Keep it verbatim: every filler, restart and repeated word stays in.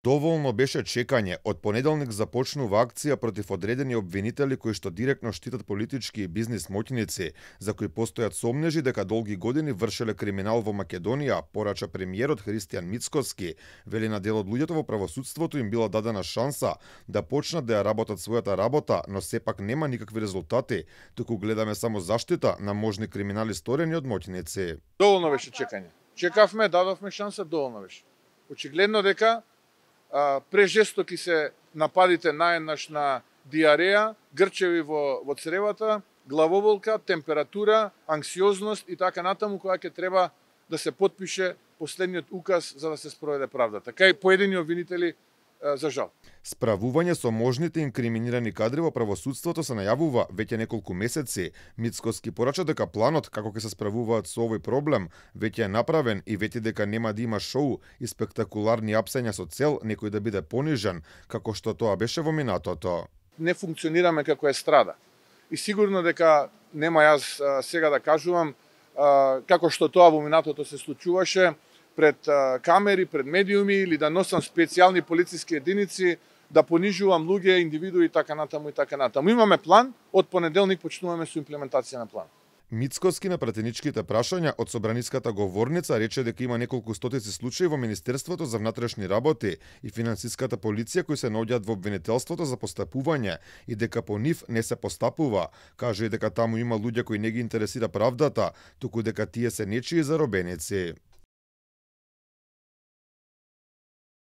Доволно беше чекање. Од понеделник започнува акција против одредени обвинители кои што директно штитат политички и бизнис моќници, за кои постојат сомнежи дека долги години вршеле криминал во Македонија, порача премиерот Христијан Мицкоски. Вели на дел од луѓето во правосудството им била дадена шанса да почнат да ја работат својата работа, но сепак нема никакви резултати, туку гледаме само заштита на можни криминали сторени од моќници. Доволно беше чекање. Чекавме, дадовме шанса, доволно беше. Очигледно дека а, прежестоки се нападите наеднаш на диареја, грчеви во, во цревата, главоболка, температура, анксиозност и така натаму, која ќе треба да се потпише последниот указ за да се спроведе правда. Така и поедини обвинители за жал. Справување со можните инкриминирани кадри во правосудството се најавува веќе неколку месеци. Мицкоски порача дека планот како ќе се справуваат со овој проблем веќе е направен и вети дека нема да има шоу и спектакуларни апсења со цел некој да биде понижен, како што тоа беше во минатото. Не функционираме како естрада. И сигурно дека нема јас а, сега да кажувам а, како што тоа во минатото се случуваше пред а, камери, пред медиуми или да носам специјални полициски единици, да понижувам луѓе, индивидуи и така натаму и така натаму. Имаме план, од понеделник почнуваме со имплементација на план. Мицкоски на пратеничките прашања од собраниската говорница рече дека има неколку стотици случаи во Министерството за внатрешни работи и финансиската полиција кои се наоѓаат во обвинителството за постапување и дека по нив не се постапува. Каже и дека таму има луѓе кои не ги интересира правдата, туку дека тие се нечии заробеници.